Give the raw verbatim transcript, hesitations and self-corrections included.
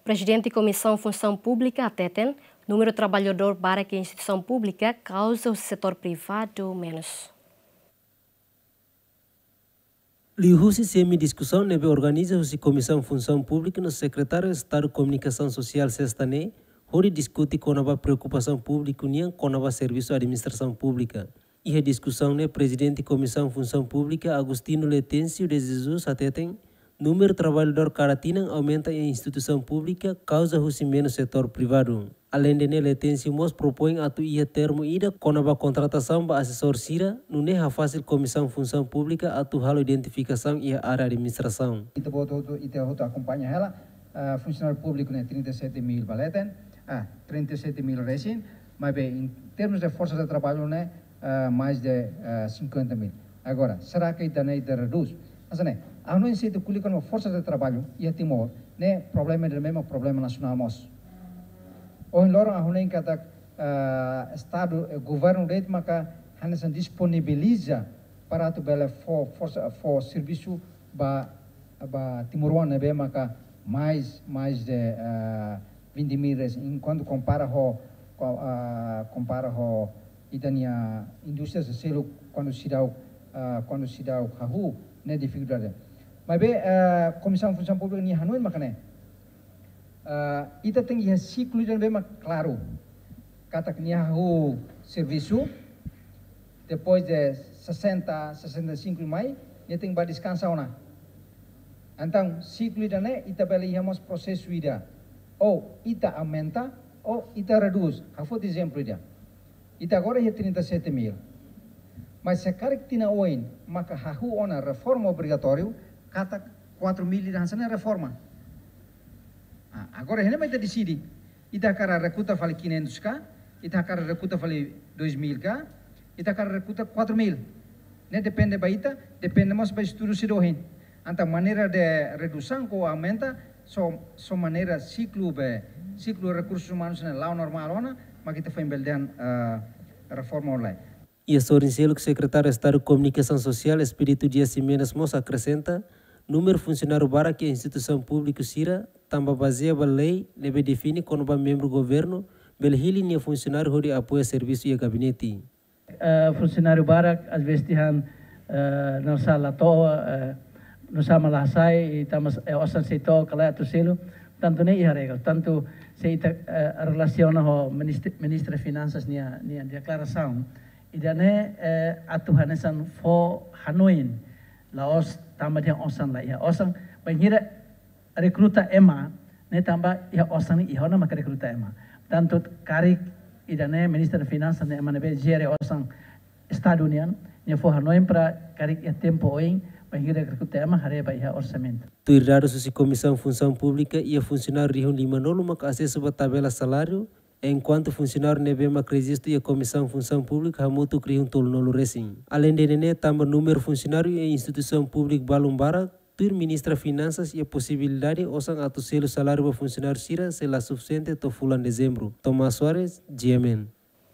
Prezidente Komisaun Funsaun Públika hateten, númeru traballadór barak iha instituisaun públika kauza husi setór privadu menus. Liuhusi semi-diskusaun ne'ebé organiza husi Komisaun Funsaun Públika no Sekretáriu Estadu Komunikasaun Sosiál sesta ne'e, hodi diskute kona-ba preokupasaun públiku nian kona-ba servisu administrasaun públika. Iha diskusaun ne'e, Prezidente Komisaun Funsaun Públika, Agostinho Letêncio de Jesus, hateten, númeru traballadór kada tinan aumenta iha instituisaun públika kauza husi menus setór privadu. Aleinde ne'e, Letêncio mós propoin atu iha termu ida kona-ba kontratasaun ba asesór sira, nune'e hafasil Komisaun Funsaun Públika atu halo identifikasaun iha área administrasaun. Ita-boot hotu, ita hotu akompaña hela, ah, funsionáriu públiku ne'e trinta e sete mil ba leten, ah, trinta e sete mil resin, maibé em termos de forsa de traballu ne'e, ah, mais de, ah, cinquenta mil. Agora, será que ita-nia ita reduz? Mas ne'e, ha'u hanoin se ita ko'alia kona-ba forsa de traballu iha Timor, ne'e problema ida, mesmu problema nasionál mós. Ohin loron ha'u hanoin katak, ah, Estadu, eh, governu de'it maka hanesan disponibiliza para atu bele fó forsa, fó servisu ba, ba timoroan ne'ebé maka mais, mais de, ah, vinte mil reais, enkuantu kompara ho, ko-, ah, kompara ho ita-nia indústria sira seluk kuandu seidauk, ah, kuandu seidauk hahú, ne'e difikuldade. Maibé, ah, Komisaun Funsaun Públika nia hanoin maka ne'e, ah, ita tenke iha siklu ida ne'ebé mak klaru. Katak nia hahú servisu, depois de sessenta, sessenta e cinco mai, nia tenke bá deskansa ona. Entaun, siklu ida-ne'e, ita bele iha mós prosesu ida. Ou ita aumenta, ou ita redús. Ha'u foti ezemplu ida. Ita agora iha trinta e sete mil. Mas se karik tinan oin maka hahú ona reforma obrigatóriu, katak quatro mil ida hanesan ne'e reforma. Ah, agora iha ne'e mak ita deside. Ita hakarak rekruta fali quinhentos ka, ita hakarak rekruta fali dois mil ka, ita hakarak rekruta quatro mil. Ne'e depende ba ita, depende mós ba estudu sira ohin. Entaun maneira de redusaun ka aumenta, só, só maneira siklu be, siklu rekursus umanus ne'e la'o normál ona, mak ita foin bele dehan, ah, reforma ona lai. Iha sorin seluk, Sekretáriu Estadu Komunikasaun Sosiál, Expedito Dias Ximenes mós akresenta, númeru funsionáriu barak iha instituisaun públiku sira, tanba bazeia ba lei ne'ebé define kona-ba membru governu bele hili nia funsionáriu hodi apoia servisu iha gabinete. Eh, funsionáriu barak, às vezes tiha, eh, nusá la to'o, eh, nusá mak la hasai, i tanba, eh, osan sei to'o ka lae atu selu, tantu ne'e iha regra, tantu se ita, eh, relasiona ho ministri-, Ministra Finansas nia, nia deklarasaun. Ida-ne'e, eh, atu hanesan fó hanoin, la'ós tanba dehan osan la iha. Osan, bainhira rekruta ema, ne'e tanba iha osan ne'e iha ona maka rekruta ema. Tantu karik ida-ne'e Ministra Finansas ne'e ema ne'ebé jere osan Estadu nian, nia fó hanoin para karik iha tempu oin, bainhira rekruta ema haree ba iha orsamentu. Tuir dadus husi Komisaun Funsaun Públika, iha funsionáriu rihun limanulu maka asesu ba tabela saláriu, enkuantu funsionáriu ne'ebé mak rejistu iha Komisaun Funsaun Públika hamutuk rihun tolunulu resin. Aleinde ne'e, tanba númeru funsionáriu iha instituisaun públika balun barak, tuir Ministra Finansas iha posibilidade osan atu selu saláriu ba funsionáriu sira sei la sufisiente to'o fulan Dezembru. Tomás Soares, G M N.